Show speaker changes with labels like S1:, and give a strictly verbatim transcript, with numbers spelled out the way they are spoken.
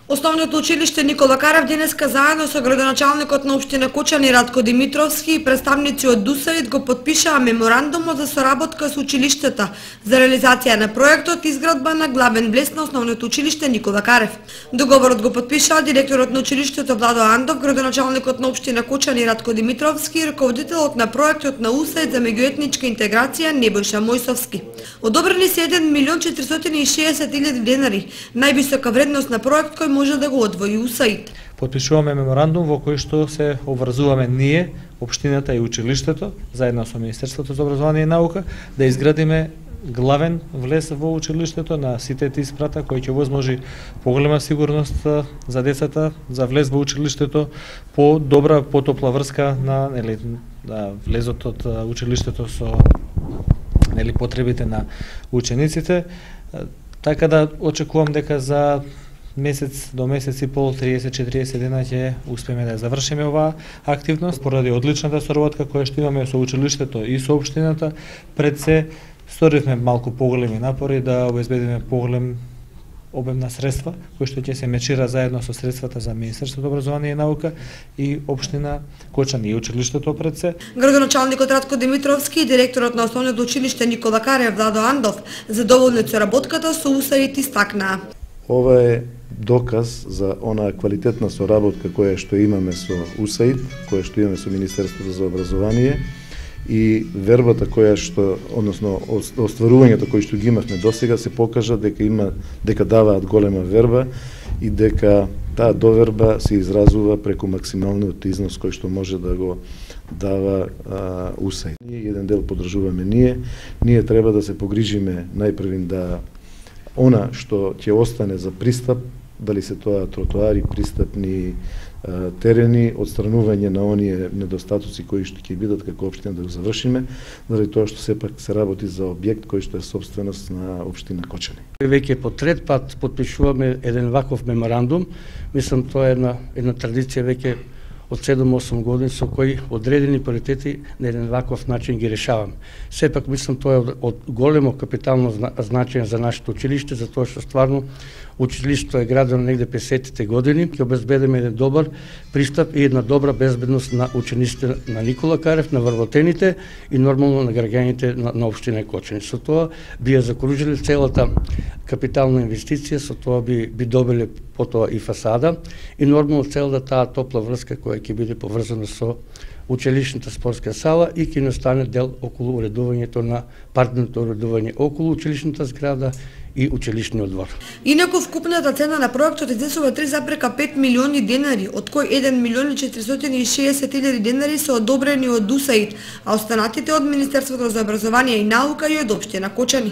S1: Основното училиште Никола Карев денеска заедно со градоначалникот на општина Кочани Ратко Димитровски и представници од ДУСАИД го потпишаа меморандумот за соработка со училиштата за реализација на проектот изградба на главен влез на основното училиште Никола Карев. Договорот го потпишаа директорот на училиштето Владо Андов, градоначалникот на општина Кочани Ратко Димитровски и раководителот на проектот на УСАИД за меѓуетничка интеграција Небојша Мојсовски. Одобрени се еден милион четиристотини и шеесет илјади денари, највисока вредност на проект кој може да го одвои УСАИД.
S2: Подпишуваме меморандум во кој што се обврзуваме ние, општината и училиштето, заедно со Министерството за образование и наука, да изградиме главен влез во училиштето на сите тие спрата кој ќе возможи поголема сигурност за децата, за влез во училиштето, по добра, потопла врска на нели на влезот од училиштето со нели потребите на учениците, така да очекувам дека за месец до месец и пол, триесет до четириесет дена ќе успееме да завршиме оваа активност поради одличната соработка која што имаме со училиштето и со општината. Пред се сторивме малку поголеми напори да обезбедиме поголем обем на средства кои што ќе се мечира заедно со средствата за Министерството за образование и наука и општина Кочани и училиштето пред се.
S1: Градоначалникот Ратко Димитровски и директорот на основното училиште Никола Карев Владо Андов задоволни со работката со УСАИД истакнаа.
S3: Ова е доказ за онаа квалитетна соработка која што имаме со УСАИД, која што имаме со Министерството за образование и вербата која што, односно остварувањето кои што ги имавме досега се покажа дека има дека даваат голема верба и дека таа доверба се изразува преку максималниот износ кој што може да го дава а, УСАИД. Еден дел подржуваме ние, ние треба да се погрижиме најпрвин да она што ќе остане за пристап, дали се тоа тротоари, пристапни а, терени, одстранување на оние недостатоци кои што ќе бидат како општина да го завршиме, заради тоа што сепак се работи за објект кој што е сопственост на општина Кочани.
S4: Веќе по трет пат потпишуваме еден ваков меморандум. Мислам тоа е една една традиција веќе од седум-осум години со кои одредени приоритети на еден ваков начин ги решаваме. Сепак мислам тоа е од големо капитално значење за нашето училиште, затоа што стварно училиштето е градено негде песетите години, ќе обезбедиме еден добар пристап и една добра безбедност на учениците на Никола Карев, на вработените и нормално на граѓаните на, на општина Кочани. Со тоа би ја закружили целата капитална инвестиција, со тоа би би добиле потоа и фасада и нормално целата таа топла врска која ќе биде поврзана со училишната спортска сала и ќе настане дел околу уредувањето на паркното уредување околу училишната зграда и училишниот двор.
S1: Инаку вкупната цена на проектот изнесува три зарез пет милиони денари, од кои еден милион и четиристотини и шеесет илјади денари се одобрени од УСАИД, а останатите од Министерството за образование и наука и од општина Кочани.